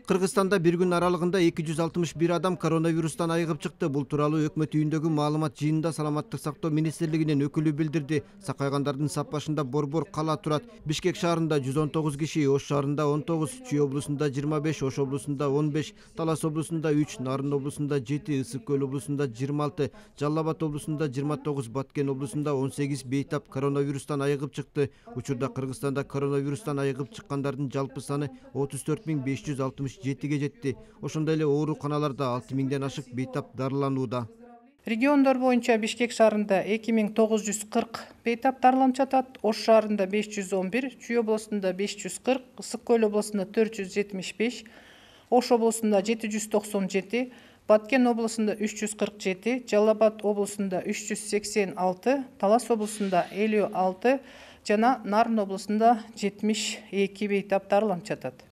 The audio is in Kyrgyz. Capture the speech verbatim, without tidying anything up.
Кыргызстанда бир күн аралыгында эки жүз алтымыш бир адам коронавирустан айыгып чыкты. Бул тууралуу өкмөт үйүндөгү маалымат жыйынында саламаттык сактоо министрлигинин өкүлү билдирди. Сакайгандардын сапашында Борбор кала турат. Бишкек шаарында жүз он тогуз киши, Ош шаарында он тогуз, Чүй облусунда жыйырма беш, Ош облусунда он беш, Талас облусунда үч, Нарын облусунда жети, Ысык көл облусунда жыйырма алты, Жалал Абад облусунда жыйырма тогуз, Баткен облусунда он сегиз бейтап коронавирустан айыгып чыкты. Учурда Кыргызстанда коронавирустан айыгып чыккандардын жалпы саны отуз төрт миң беш жүз алтымыш жетиге жетти. Ошондой эле ооруканаларда алты миңден ашык бейтап дарыланууда. Региондор боюнча Бишкек шаарында эки миң тогуз жүз кырк бейтап дарыланып жатат, Ош шаарында беш жүз он бир, Чүй облусунда беш жүз кырк, Ысык көл облусунда төрт жүз жетимиш беш, Ош облусунда жети жүз токсон жети, Баткен облусунда үч жүз кырк жети, Жалал Абад облусунда үч жүз сексен алты, Талас облусунда элүү алты жана Нарын облусунда жетимиш эки бейтап дарыланып жатат.